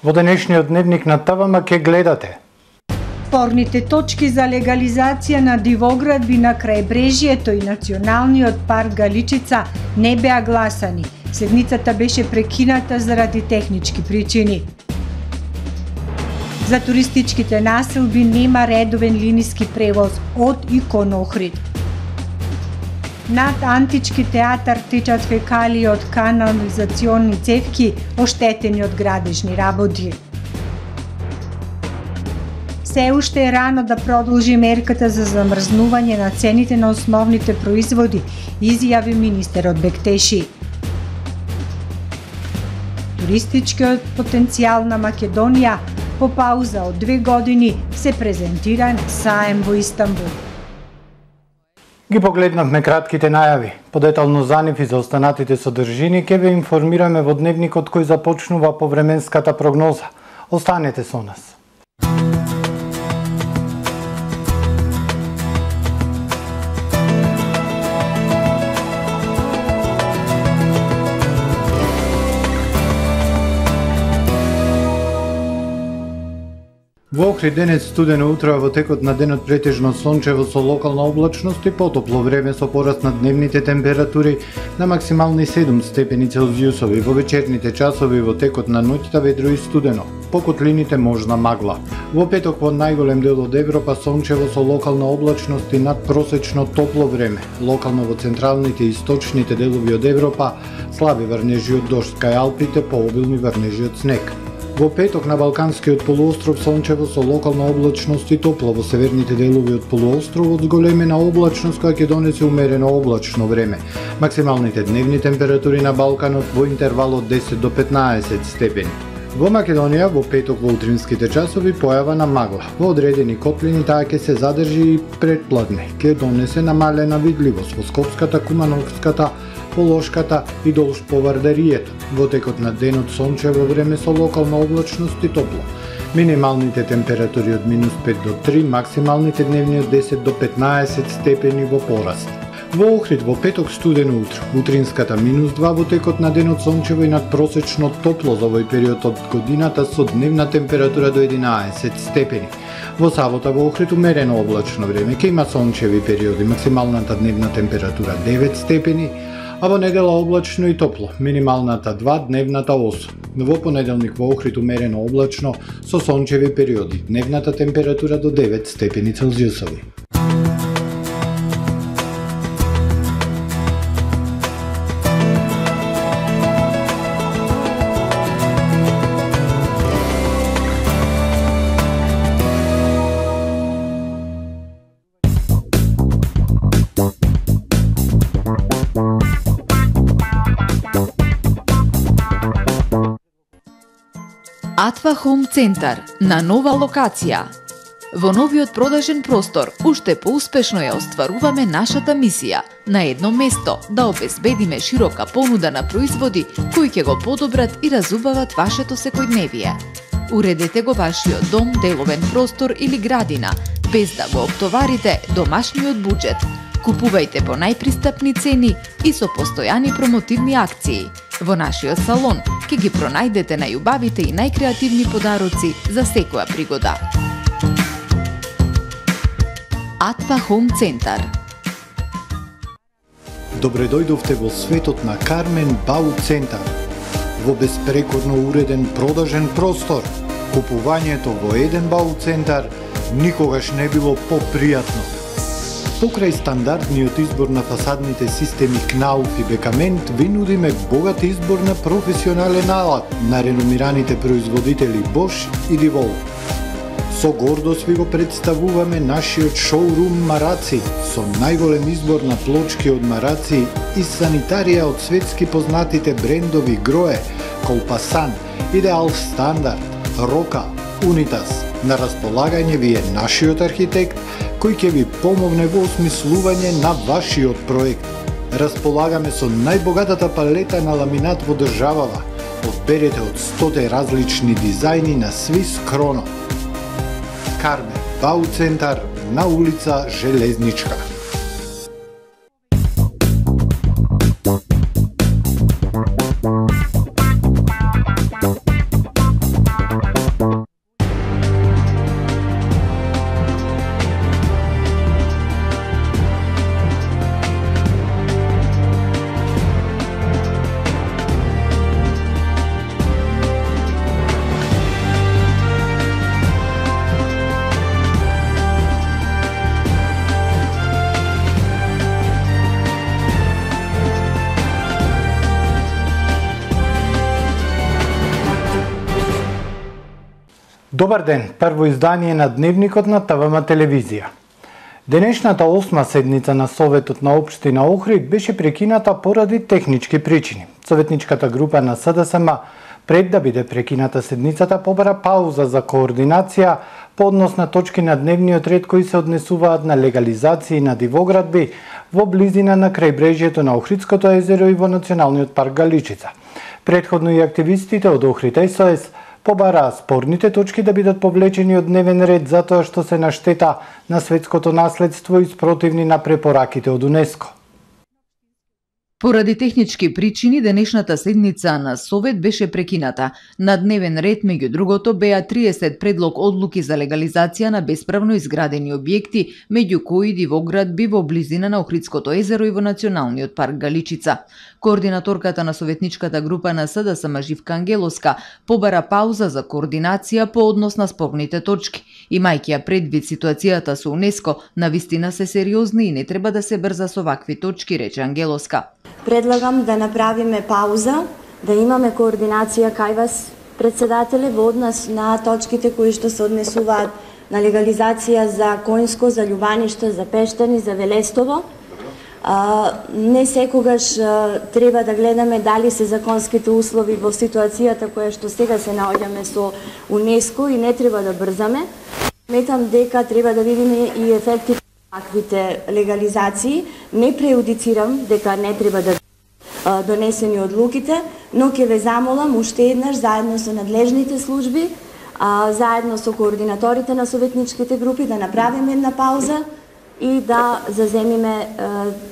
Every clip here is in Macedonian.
Во денешниот дневник на ТВМ ке гледате: спорните точки за легализација на дивоградби на крајбрежјето и националниот парк Галичица не беа гласани. Седницата беше прекината заради технички причини. За туристичките населби нема редовен линиски превоз од и кон Охрид. Над антички театар течат фекалии од канализационни цевки, оштетени од градежни работи. Се уште е рано да продолжи мерката за замрзнување на цените на основните производи, изјави министерот Бектеши. Туристичкиот потенцијал на Македонија по пауза од 2 години се презентира на саем во Истанбул. Ги погледнавме кратките најави. Подетално за нив и за останатите содржини ќе ве информираме во дневникот кој започнува повременската прогноза. Останете со нас. Во Охрид денес студено утро, во текот на денот претежно сончево со локална облачност и потопло време со пораст на дневните температури на максимални 7 степени Целзиусови. Во вечерните часови во текот на ноќта ведро и студено. По котлините можна магла. Во петок во најголем дел од Европа сончево со локална облачност и надпросечно топло време. Локално во централните и источните делови од Европа слаби врнежи од дожд, кај Алпите пообилни врнежи од снег. Во петок на Балканскиот полуостров сончево со локална облачност и топло, во северните делови од полуостровот зголемена облачност која ќе донесе умерено облачно време. Максималните дневни температури на Балканот во интервал од 10 до 15 степени. Во Македонија во петок во утринските часови појава на магла. Во одредени котлини таа ќе се задржи и предпладне, ќе донесе намалена видливост во Скопската, Кумановската, Полошката и долж по Вардарието. Во текот на денот сончево време со локална облачност и топло. Минималните температури од -5 до 3, максималните дневни од 10 до 15 степени во пораст. Во Охрид во петок студено утро, утринската -2, во текот на денот сончево и надпросечно топло за овој период од годината со дневна температура до 11 степени. Во сабота во Охрид умерено облачно време, ќе има сончеви периоди, максималната дневна температура 9 степени, а во недела облачно и топло, минималната 2, дневната 8. Во понеделник во Охрид умерено облачно со сончеви периоди, дневната температура до 9 степени Целзиусови. Атва Хом Центар на нова локација. Во новиот продажен простор уште поуспешно ја остваруваме нашата мисија на едно место да обезбедиме широка понуда на производи кои ќе го подобрат и разубават вашето секојдневие. Уредете го вашиот дом, деловен простор или градина без да го оптоварите домашниот буџет. Купувајте по најпристапни цени и со постојани промотивни акции. Во нашиот салон ќе ги пронајдете најубавите и најкреативни подароци за секоја пригода. Атва Хом Центар. Добре дојдовте во светот на Кармен Бау Центар. Во безпрекорно уреден продажен простор, купувањето во еден Бау Центар никогаш не било попријатно. Покрај стандардниот избор на фасадните системи Кнауф и Бекамент, ви нудиме богат избор на професионален алат на реномираните производители Bosch и Divol. Со гордост ви го представуваме нашиот шоурум Мараци, со најголем избор на плочки од Мараци и санитарија од светски познатите брендови Грое, Колпасан, Идеал Стандард, Рока, Унитас. На располагање ви е нашиот архитект, кој ќе ви помогне во осмислување на вашиот проект. Располагаме со најбогатата палета на ламинат во државава. Одберете од 100 различни дизајни на Свис Кроно. Кармен Бау Центар на улица Железничка. Добар ден, прво издание на Дневникот на ТВМ телевизија. Денешната 8 седница на Советот на општина Охрид беше прекината поради технички причини. Советничката група на СДСМ, пред да биде прекината седницата, побара пауза за координација по однос на точки на дневниот ред кои се однесуваат на легализации на дивоградби во близина на крајбрежјето на Охридското езеро и во Националниот парк Галичица. Предходно и активистите од Охрид СОС побараа спорните точки да бидат повлечени од дневен ред затоа што се на штета на светското наследство и спротивни на препораките од УНЕСКО. Поради технички причини, денешната седница на Совет беше прекината. На дневен ред, меѓу другото, беа 30 предлог одлуки за легализација на бесправно изградени објекти, меѓу кои дивоградби во близина на Охридското езеро и во Националниот парк Галичица. Координаторката на Советничката група на СДСМ Живка Ангелоска побара пауза за координација по однос на спорните точки. Имајќи ја предвид ситуацијата со УНЕСКО, навистина се сериозни и не треба да се брза со вакви точки, рече Ангелоска. Предлагам да направиме пауза, да имаме координација кај вас, председателе, во однос на точките кои што се однесуваат на легализација за Коњско, за Љубаниште, за Пештани, за Велестово. Не секогаш треба да гледаме дали се законските услови во ситуацијата која што сега се наоѓаме со УНЕСКО и не треба да брзаме. Сметам дека треба да видиме и ефектите на таквите легализации. Не преюдицирам дека не треба да донесени одлуките, но ќе ве замолам уште еднаш заедно со надлежните служби, заедно со координаторите на советничките групи да направиме една пауза и да заземиме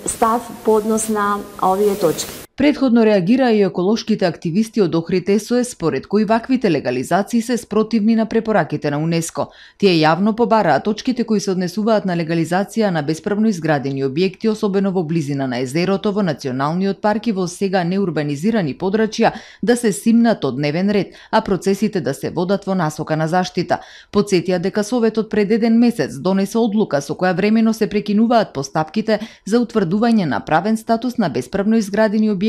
став по однос на овие точки. Предходно реагираа и еколошките активисти од Охрид СОС, според кои ваквите легализации се спротивни на препораките на УНЕСКО. Тие јавно побараа точките кои се однесуваат на легализација на бесправно изградени објекти, особено во близина на езерото, во Националниот парк и во сега неурбанизирани подрачја, да се симнат од дневен ред, а процесите да се водат во насока на заштита. Потсетија дека Советот пред еден месец донесе одлука со која времено се прекинуваат постапките за утврдување на правен статус на бесправно изградени објекти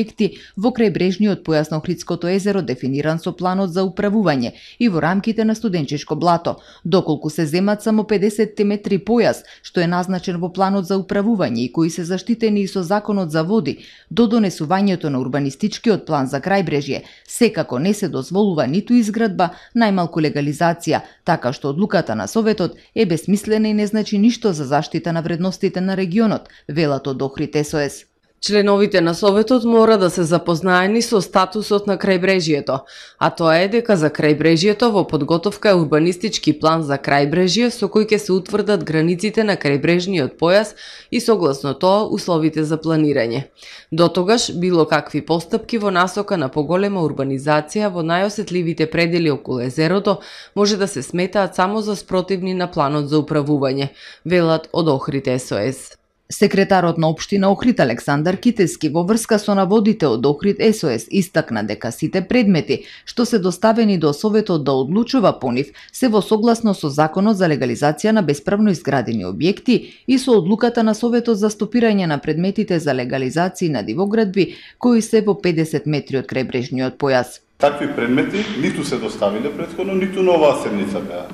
во крајбрежниот појас на Охридското езеро, дефиниран со планот за управување и во рамките на студенческо блато, доколку се земат само 50 метри појас, што е назначен во планот за управување и кои се заштитени и со законот за води, до донесувањето на урбанистичкиот план за крајбрежје, секако не се дозволува ниту изградба, најмалку легализација, така што одлуката на Советот е бесмислена и не значи ништо за заштита на вредностите на регионот, велат од Охрид СОС. Членовите на Советот мора да се запознаени со статусот на крајбрежјето, а тоа е дека за крајбрежјето во подготовка е урбанистички план за крајбрежје со кој ќе се утврдат границите на крајбрежниот појас и согласно тоа условите за планирање. Дотогаш било какви постапки во насока на поголема урбанизација во најосетливите предели околу езерото може да се сметаат само за спротивни на планот за управување, велат од Охрид СОС. Секретарот на општина Охрид Александар Китески во врска со наводите од Охрид СОС истакна дека сите предмети што се доставени до Советот да одлучува по нив се во согласно со законот за легализација на бесправно изградени објекти и со одлуката на Советот за стопирање на предметите за легализација на дивоградби кои се во 50 метри од крајбрежниот појас. Такви предмети ниту се доставиле претходно, ниту на оваа седница беа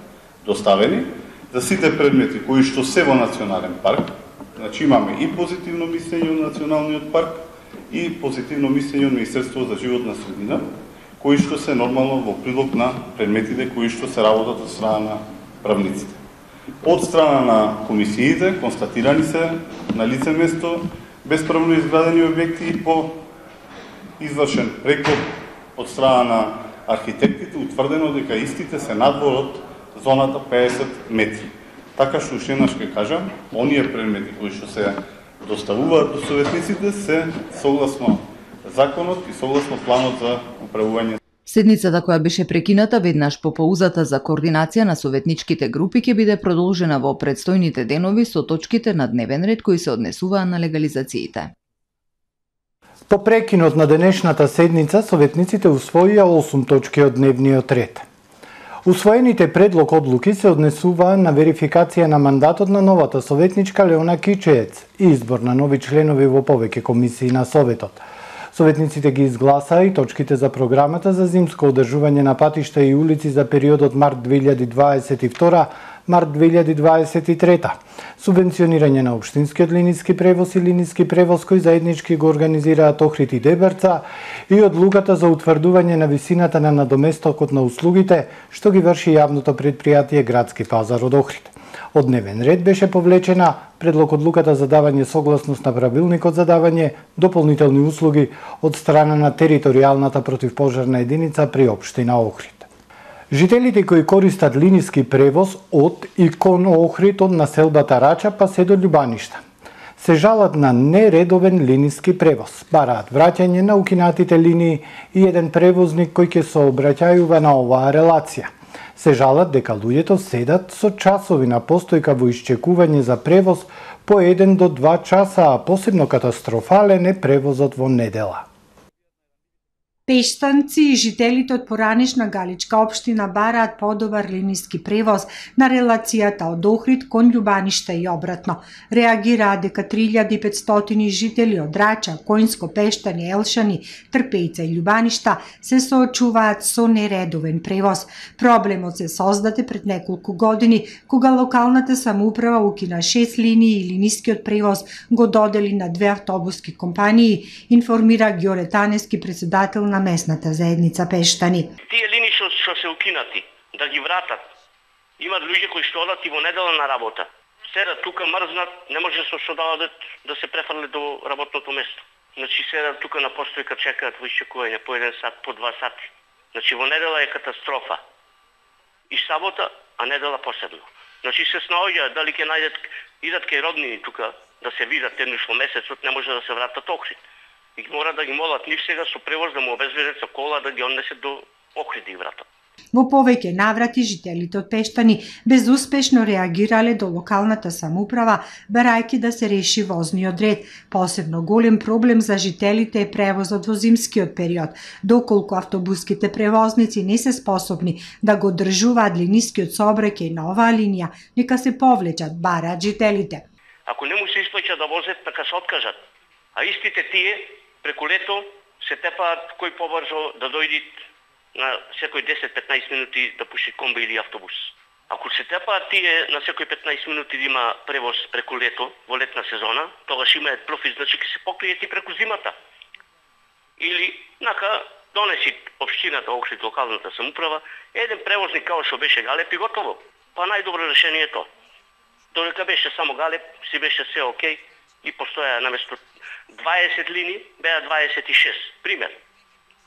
доставени. За сите предмети кои што се во национален парк, значи имаме и позитивно мислење од Националниот парк и позитивно мислење од Министерството за животна средина, кои што се нормално во прилог на предметите кои што се работат од страна на правниците. Од страна на комисиите констатирани се на лице место бесправно изградени објекти по извршен прекоп од страна на архитектите, утврдено дека истите се надвор од зоната 50 метри. Така што уште еднаш ќе кажам, оние предмети кои што се доставуваат до советниците се согласно законот и согласно планот за управување. Седницата која беше прекината веднаш по паузата за координација на советничките групи ќе биде продолжена во предстојните денови со точките на дневен ред кои се однесуваа на легализациите. По прекинот на денешната седница, советниците усвоија 8 точки од дневниот ред. Усвоените предлог одлуки се однесуваа на верификација на мандатот на новата советничка Леона Кичеец и избор на нови членови во повеќе комисии на Советот. Советниците ги изгласаа и точките за програмата за зимско одржување на патишта и улици за периодот март 2022 март 2023. Субвенционирање на општинскиот линиски превоз и линиски превоз кој заеднички го организираат Охрид и Дебрца и одлуката за утврдување на висината на надоместокот на услугите што ги врши јавното предпријатие Градски пазар од Охрид. Од дневен ред беше повлечена предлог одлуката за давање согласност на правилникот за давање дополнителни услуги од страна на територијалната противпожарна единица при општина Охрид. Жителите кои користат линиски превоз од и кон Охрид од населбата Рача па се до Љубаништа се жалат на нередовен линиски превоз. Бараат враќање на укинатите линии и еден превозник кој ќе сообраќајува на оваа релација. Се жалат дека луѓето седат со часови на постојка во исчекување за превоз по 1 до 2 часа, а посебно катастрофален е превозот во недела. Пештанци и жителите од поранешна Галичка општина бараат подобар линиски превоз на релацијата од Охрид кон Љубаништа и обратно. Реагираа дека 3500 жители од Рача, Којнско, Пештани, Елшани, Трпејца и Љубаништа се соочуваат со нередовен превоз. Проблемот се создаде пред неколку години, кога локалната самоуправа укина 6 линии и линискиот превоз го додели на 2 автобуски компании, информира Ѓоре Танески, председател на местната заедница Пештани. Тие линии што се укинати, да ги вратат. Имат луѓе кои што одат и во недела на работа. Седат тука мрзнат, не може што да одат да се префрле до работното место. Значи седат тука на постојка, чекаат во исчекување по 1 сат, по 2 сати. Значи во недела е катастрофа. И сабота, а недела посебно. Значи се снаоѓаат дали ќе најдат, идат кај роднини тука да се видат еднаш во месецот, не може да се вратат Охрид. И мора да ги молат нив сега со превоз да му обезбедат со кола да ги однесат до Охрид да ги вратат. Во повеќе наврати жителите од Пештани безуспешно реагирале до локалната самоуправа, барајќи да се реши возниот ред. Посебно голем проблем за жителите е превозот во зимскиот период, доколку автобуските превозници не се способни да го држуваат линискиот сообраќај на оваа линија, нека се повлечат, бараат жителите. Ако не му се исплаќа да возат, нека се откажат. А истите тие преку лето се тепаат кој побрзо да дојдат на секој 10-15 минути да пуши комби или автобус. Ако се тепаат тие на секој 15 минути да има превоз преку лето, во летна сезона, тогаш имаат профит, значи ќе се покријат и преку зимата. Или, нака, донеси општината, Охрид, локалната самоуправа, еден превозник као што беше Галеп и готово. Па најдобро решение е тоа. Додека беше само Галеп, си беше се окей и постоја наместо 20 линии, беа 26. Пример.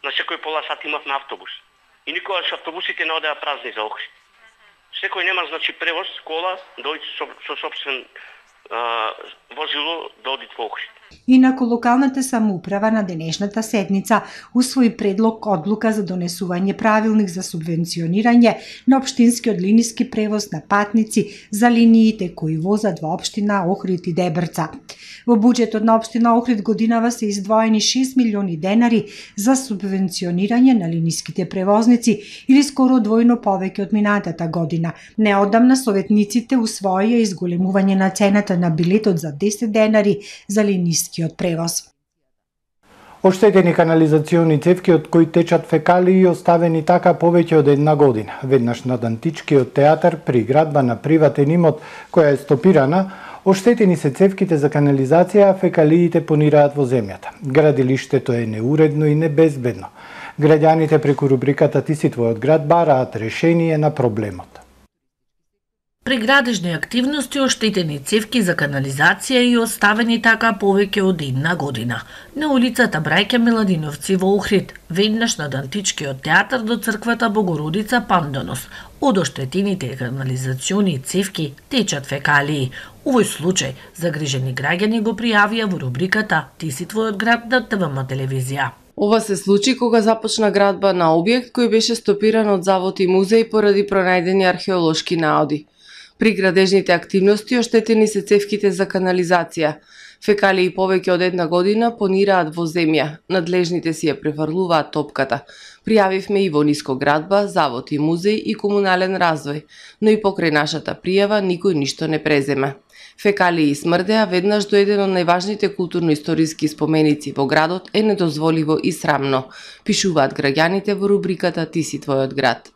На секој пола сат имавме автобус. И никогаш автобусите не одеа празни за Охрид. Секој нема, значи, превоз, кола, дојде со собствен возило да оди во Охрид. Инаку локалната самоуправа на денешната седница усвои предлог одлука за донесување правилник за субвенционирање на општинскиот линиски превоз на патници за линиите кои возат во општина Охрид и Дебрца. Во буџетот на општина Охрид годинава се издвоени 6 милиони денари за субвенционирање на линиските превозници или скоро двојно повеќе од минатата година. Неодамна советниците усвоија изголемување на цената на билетот за 10 денари за линискиот превоз. Оштетени канализациони цевки од кои течат фекалии оставени така повеќе од 1 година. Веднаш над Античкиот театар при градба на приватен имот која е стопирана, оштетени се цевките за канализација, а фекалиите понираат во земјата. Градилиштето е неуредно и небезбедно. Граѓаните преку рубриката Ти си твојот град бараат решение на проблемот. При градежни активности оштетени цевки за канализација и оставени така повеќе од 1 година. На улицата Брајке Миладиновци во Охрид, веднаш над Античкиот театар до црквата Богородица Пандонос, од оштетените канализациони цевки течат фекалии. Овој случај загрижени граѓани го пријавија во рубриката Ти си твојот град на ТВМ телевизија. Ова се случи кога започна градба на објект кој беше стопиран од завод и музеј поради пронајдени археолошки наоди. При градежните активности оштетени се цевките за канализација. Фекалии повеќе од 1 година понираат во земја. Надлежните си ја префрлуваат топката. Пријавивме и во Ниско градба, завод и музеј и комунален развој, но и покрај нашата пријава никој ништо не презема. Фекалии смрдеа веднаш до еден од најважните културно-историски споменици во градот е недозволиво и срамно, пишуваат граѓаните во рубриката Ти си твојот град.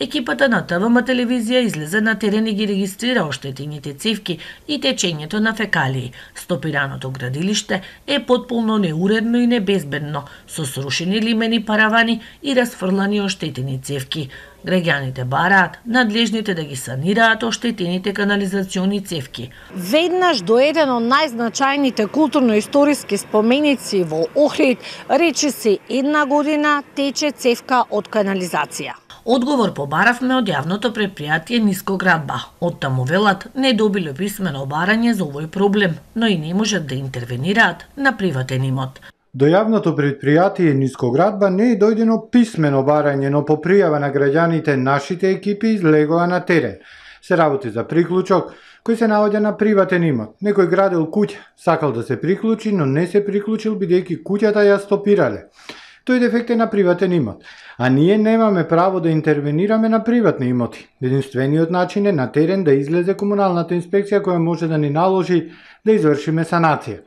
Екипата на ТВМ телевизија излезе на терен и ги регистрира оштетените цевки и течењето на фекалии. Стопираното градилиште е потполно неуредно и небезбедно, со срушени лимени паравани и расфрлани оштетени цевки. Граѓаните бараат надлежните да ги санираат оштетените канализациони цевки. Веднаш до еден од најзначајните културно-историски споменици во Охрид, речиси една година тече цевка од канализација. Одговор побаравме од јавното предпријатие Нискоградба. Од таму велат не добиле писмено барање за овој проблем, но и не можат да интервенираат на приватен имот. До јавното предпријатие Нискоградба не е дојдено писмено барање, но по пријава на граѓаните нашите екипи излегоа на терен. Се работи за приклучок кој се наоѓа на приватен имот. Некој градел куќа, сакал да се приклучи, но не се приклучил бидејќи куќата ја стопирале. Тој дефект е на приватен имот, а ние немаме право да интервенираме на приватни имоти. Единствениот начин е на терен да излезе комуналната инспекција која може да ни наложи да извршиме санација.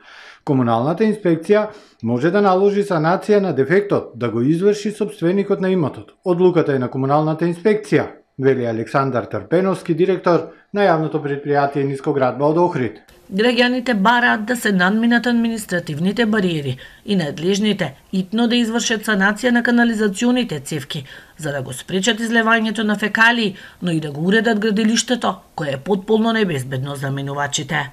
Комуналната инспекција може да наложи санација на дефектот, да го изврши сопственикот на имотот. Одлуката е на комуналната инспекција, вели Александар Трпеновски, директор на јавното предпријатие Нискоградба од Охрид. Граѓаните бараат да се надминат административните бариери и надлежните итно да извршат санација на канализационите цевки, за да го спречат излевањето на фекалии, но и да го уредат градилиштето, кое е потполно небезбедно за минувачите.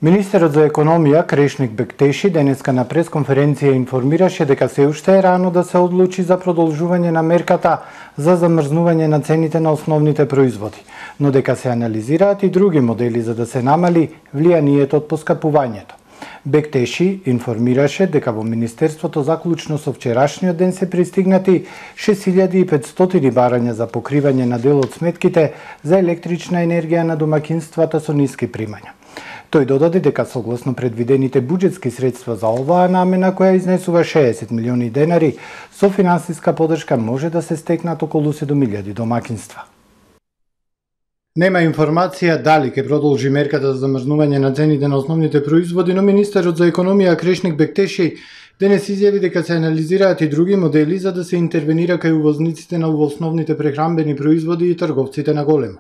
Министерот за економија Крешник Бектеши денеска на пресконференција информираше дека се уште е рано да се одлучи за продолжување на мерката за замрзнување на цените на основните производи, но дека се анализираат и други модели за да се намали влијанието од поскапувањето. Бектеши информираше дека во Министерството заклучно со вчерашниот ден се пристигнати 6500 барања за покривање на дел од сметките за електрична енергија на домакинствата со ниски примања. Тој додаде дека согласно предвидените буџетски средства за оваа намена, која изнесува 60 милиони денари, со финансиска поддршка може да се стекнат околу 7000 домакинства. Нема информација дали ќе продолжи мерката за замрзнување на цените на основните производи, но министерот за економија Крешник Бектеши денес изјави дека се анализираат и други модели за да се интервенира кај увозниците на основните прехранбени производи и трговците на големо.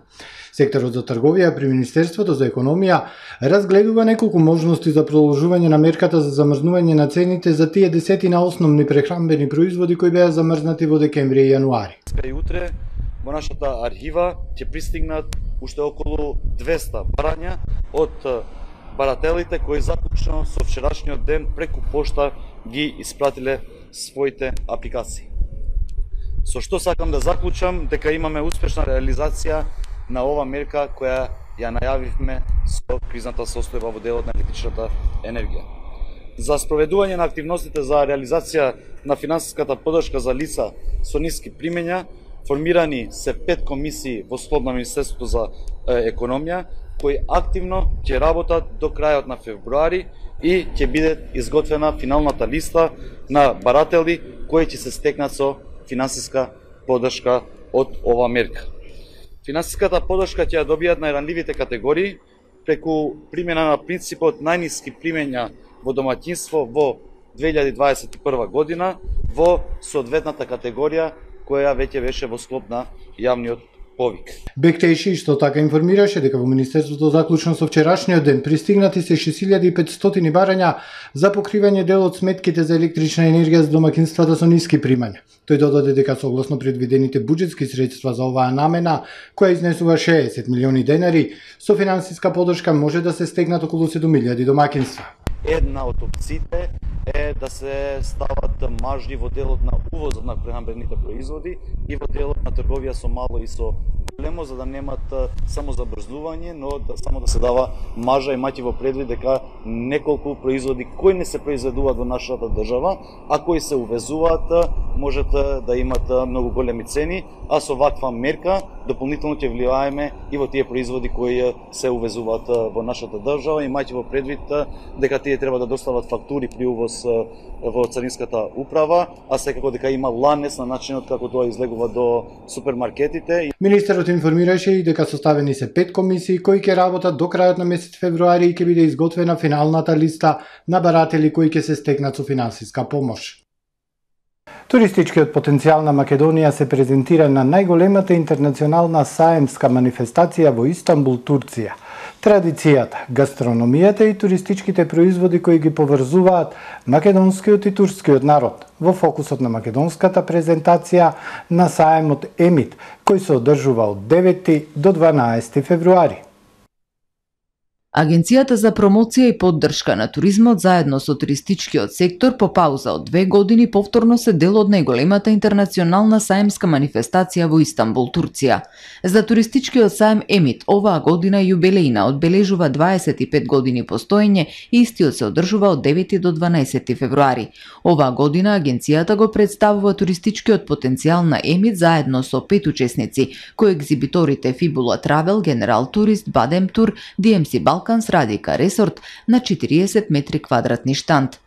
Секторот за трговија при Министерството за економија разгледува неколку можности за продолжување на мерката за замрзнување на цените за тие десетина основни прехранбени производи кои беа замрзнати во декември и јануари. И утре во нашата архива ќе пристигнат уште околу 200 барања од барателите кои заклучно со вчерашниот ден преку пошта ги испратиле своите апликации. Со што сакам да заклучам дека имаме успешна реализација на ова мерка која ја најавивме со кризната состојба во делот на електричната енергија. За спроведување на активностите за реализација на финансиската поддршка за лица со ниски примења, формирани се 5 комисии во склоп на Министерството за економија, кои активно ќе работат до крајот на февруари и ќе биде изготвена финалната листа на баратели кои ќе се стекнат со финансиска поддршка од ова мерка. Финансиската поддршка ќе ја добијат најранливите категории преку примена на принципот најниски примења во домаќинство во 2021 година во соодветната категорија која веќе беше во склоп на јавниот повик. Бектеши исто така информираше дека во Министерството заклучно со вчерашниот ден пристигнати се 6500 барања за покривање дел од сметките за електрична енергија за домакинствата со ниски примања. Тој додаде дека согласно предвидените буџетски средства за оваа намена, која изнесува 60 милиони денари, со финансиска поддршка може да се стегнат околу 7000 домакинства. Една од опциите е да се стават маржи во делот на увозот на прехранбените производи и во делот на трговија со мало и со големо, за да немат само забрзување, но само да се дава маржа, имајќи во предвид дека неколку производи кои не се произведуваат во нашата држава, а кои се увезуваат, можат да имат многу големи цени, а со ваква мерка дополнително ќе влијаеме и во тие производи кои се увезуваат во нашата држава, имајќи во предвид дека тие треба да достават фактури при увоз во царинската управа, а секако дека има ланец на начинот како тоа излегува до супермаркетите. Министерот информираше и дека составени се 5 комисии кои ќе работат до крајот на месец февруари и ќе биде изготвена финалната листа на баратели кои ќе се стекнат со финансиска помош. Туристичкиот потенцијал на Македонија се презентира на најголемата интернационална саемска манифестација во Истанбул, Турција. Традицијата, гастрономијата и туристичките производи кои ги поврзуваат македонскиот и турскиот народ во фокусот на македонската презентација на саемот Емит, кој се одржува од 9 до 12 февруари. Агенцијата за промоција и поддршка на туризмот заедно со туристичкиот сектор по пауза од 2 години повторно се дел од најголемата интернационална саемска манифестација во Истанбул, Турција. За туристичкиот саем Емит оваа година јубилејна одбележува 25 години постоење и истиот се одржува од 9 до 12 февруари. Оваа година агенцијата го представува туристичкиот потенцијал на Емит заедно со 5 учесници, кои екзибиторите Fibula Travel, General Tourist, Badem Tour, DMC Balkans, Радика Resort на 40 метри квадратни штанд.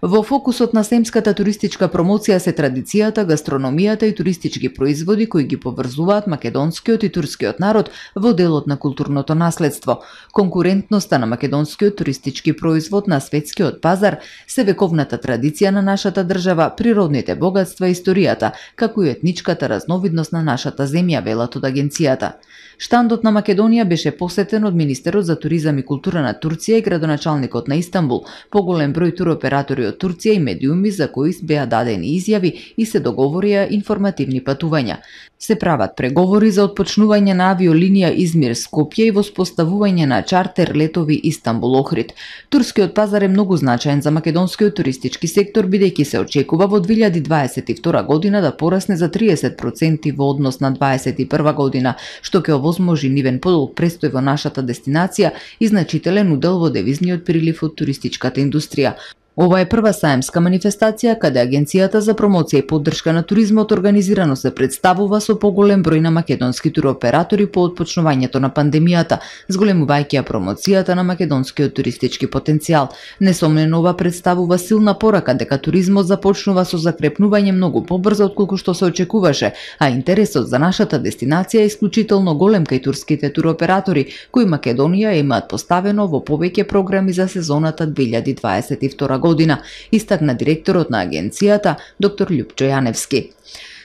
Во фокусот на семската туристичка промоција се традицијата, гастрономијата и туристички производи кои ги поврзуваат македонскиот и турскиот народ во делот на културното наследство. Конкурентноста на македонскиот туристички производ на светскиот пазар се вековната традиција на нашата држава, природните богатства и историјата, како и етничката разновидност на нашата земја, велат од агенцијата. Штандот на Македонија беше посетен од Министерот за туризам и култура на Турција и градоначалникот на Истанбул, поголем број туроператори од Турција и медиуми за кои беа дадени изјави и се договорија информативни патувања. Се прават преговори за отпочнување на авиолинија Измир-Скопје и воспоставување на чартер летови Истанбул-Охрид. Турскиот пазар е многу значаен за македонскиот туристички сектор, бидејќи се очекува во 2022 година да порасне за 30% во однос на 2021 година, што ќе овозможи нивен подолг престој во нашата дестинација и значителен удел во девизниот прилив од туристичката индустрија. Ова е прва саемска манифестација каде Агенцијата за промоција и поддршка на туризмот организирано се представува со поголем број на македонски туроператори по отпочнувањето на пандемијата, зголемувајќи ја промоцијата на македонскиот туристички потенцијал. Несомнено ова представува силна порака дека туризмот започнува со закрепнување многу побрзо отколку што се очекуваше, а интересот за нашата дестинација е исклучително голем кај турските туроператори, кои Македонија имаат поставено во повеќе програми за сезоната 2022 година, истакна директорот на агенцијата, доктор Љупчо Јаневски.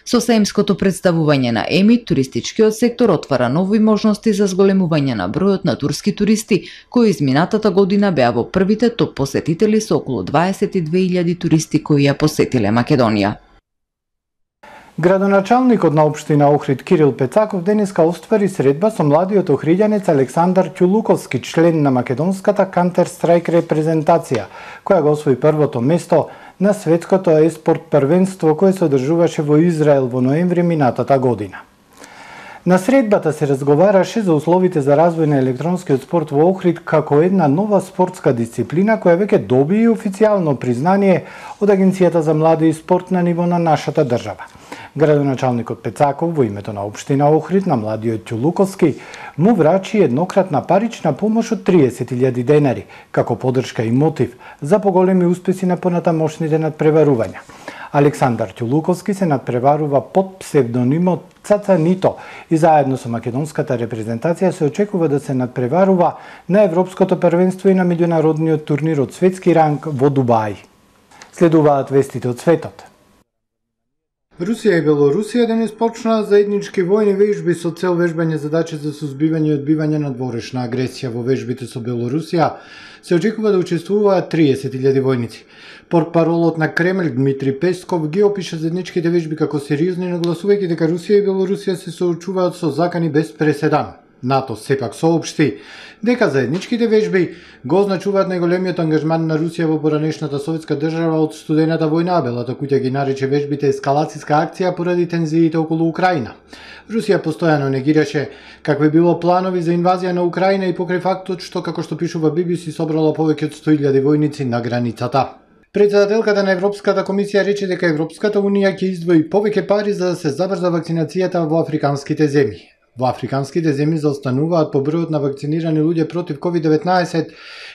Со саемското представување на Емит, туристичкиот сектор отвара нови можности за зголемување на бројот на турски туристи, кои изминатата година беа во првите топ посетители со околу 22.000 туристи кои ја посетиле Македонија. Градоначалникот на општина Охрид Кирил Пецаков денеска оствари средба со младиот охриѓанец Александар Ќулуковски, член на македонската Counter-Strike репрезентација, која го освои првото место на светското еспорт првенство кое се одржуваше во Израел во ноември минатата година. На средбата се разговараше за условите за развој на електронскиот спорт во Охрид како една нова спортска дисциплина која веќе доби и официјално признание од Агенцијата за млади и спорт на ниво на нашата држава. Градоначалникот Пецаков во името на општина Охрид на младиот Ќулуковски му врачи еднократна парична помош од 30.000 денари, како поддршка и мотив за поголеми успеси на понатамошните надпреварувања. Александар Ќулуковски се надпреварува под псевдонимот Цацанито и заедно со македонската репрезентација се очекува да се надпреварува на Европското првенство и на меѓународниот турнир од светски ранг во Дубај. Следуваат вестите од светот. Русија и Белорусија денес почнаа заеднички војни вежби со цел вежбање задачи за сузбивање и одбивање на дворешна агресија. Во вежбите со Белорусија се очекува да учествуваат 30.000 војници. Портпаролот на Кремљ Дмитри Песков ги опиша заедничките вежби како сериозни, нагласувајќи дека Русија и Белорусија се соочуваат со закани без преседан. НАТО сепак соопшти дека заедничките вежби го означуваат најголемиот ангажман на Русија во поранешната советска држава од студената војна, а Белата куќа ги нарече вежбите ескалацијска акција поради тензиите околу Украина. Русија постојано негираше какви било планови за инвазија на Украина и покрај фактот што, како што пишува BBC, собрала повеќе од 100.000 војници на границата. Председателката на Европската комисија рече дека Европската унија ќе издвои повеќе пари за да се забрза вакцинацијата во африканските земји. Во африканските земји заостануваат по бројот на вакцинирани луѓе против COVID-19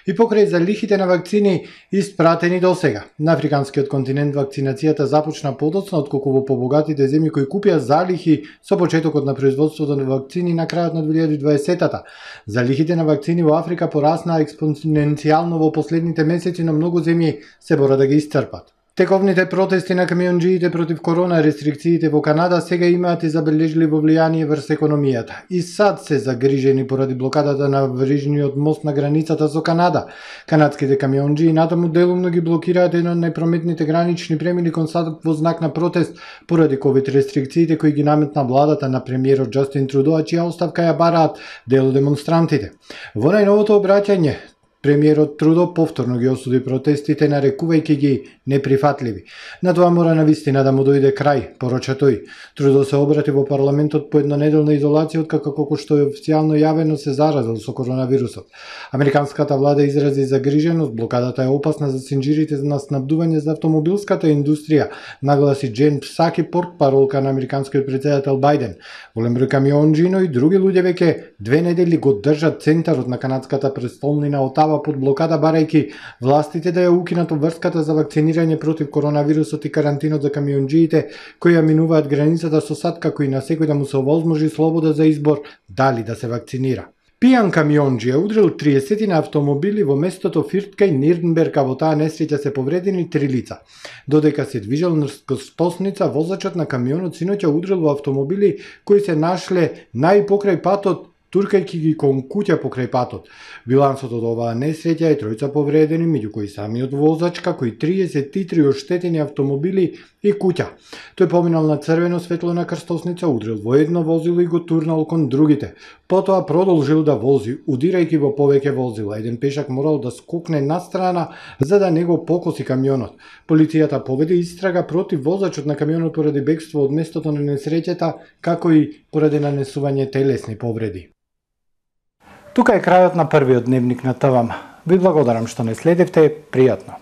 и покрај залихите на вакцини испратени досега. На африканскиот континент вакцинацијата започна подоцна отколку во побогатите земји кои купија залихи со почетокот на производството на вакцини на крајот на 2020-та. Залихите на вакцини во Африка пораснаа експоненцијално во последните месеци, но многу земји се борат да ги исцрпат. Тековните протести на камионџиите против корона рестрикциите во Канада сега имаат и забележливо влијание врз економијата. И сад се загрижени поради блокадата на врижниот мост на границата со Канада. Канадските камионџии натаму делумно ги блокираат едно од најпрометните гранични премини кон сад во знак на протест поради ковид рестрикциите кои ги наметна владата на премиерот Џастин Трудо, а чија оставка ја бараат дел демонстрантите. Во најновото обраќање премиерот Трудо повторно ги осуди протестите, нарекувајќи ги неприфатливи. На тоа мора навистина да му дојде крај, порача тој. Трудо се обрати во парламентот по еднонеделна изолација откако што е официјално јавено се заразил со коронавирусот. Американската влада изрази загриженост, блокадата е опасна за синџирите на снабдување за автомобилската индустрија, нагласи Джен Псаки, портпаролка на американскиот претседател Бајден. Голем број камионџи, но и други луѓе веќе 2 недели го држат центарот на канадската престолнина Отава под блокада, барајќи властите да ја укинат обврската за вакцинирање против коронавирусот и карантинот за камионџиите кои ја минуваат границата со САД, како и на секој да му се овозможи слобода за избор дали да се вакцинира. Пијан камионџи е удрил 30 на автомобили во местото Фирт кај Нирнберг, а во таа несреќа се повредени 3 лица. Додека се движел низ скосница, возачот на камионот синоќа удрил во автомобили кои се нашле најпокрај патот, туркајќи ги кон куќа покрај патот. Билансот од оваа несреќа е 3 повредени, меѓу кои самиот возач, како и 33 оштетени автомобили и куќа. Тој поминал на црвено светло на крстосница, удрил во едно возило и го турнал кон другите. Потоа продолжил да вози, удирајќи во повеќе возила. Еден пешак морал да скокне настрана за да не го покоси камионот. Полицијата поведе истрага против возачот на камионот поради бегство од местото на несреќата, како и поради нанесување телесни повреди. Тука е крајот на првиот дневник на ТВМ. Ви благодарам што не следевте, пријатно.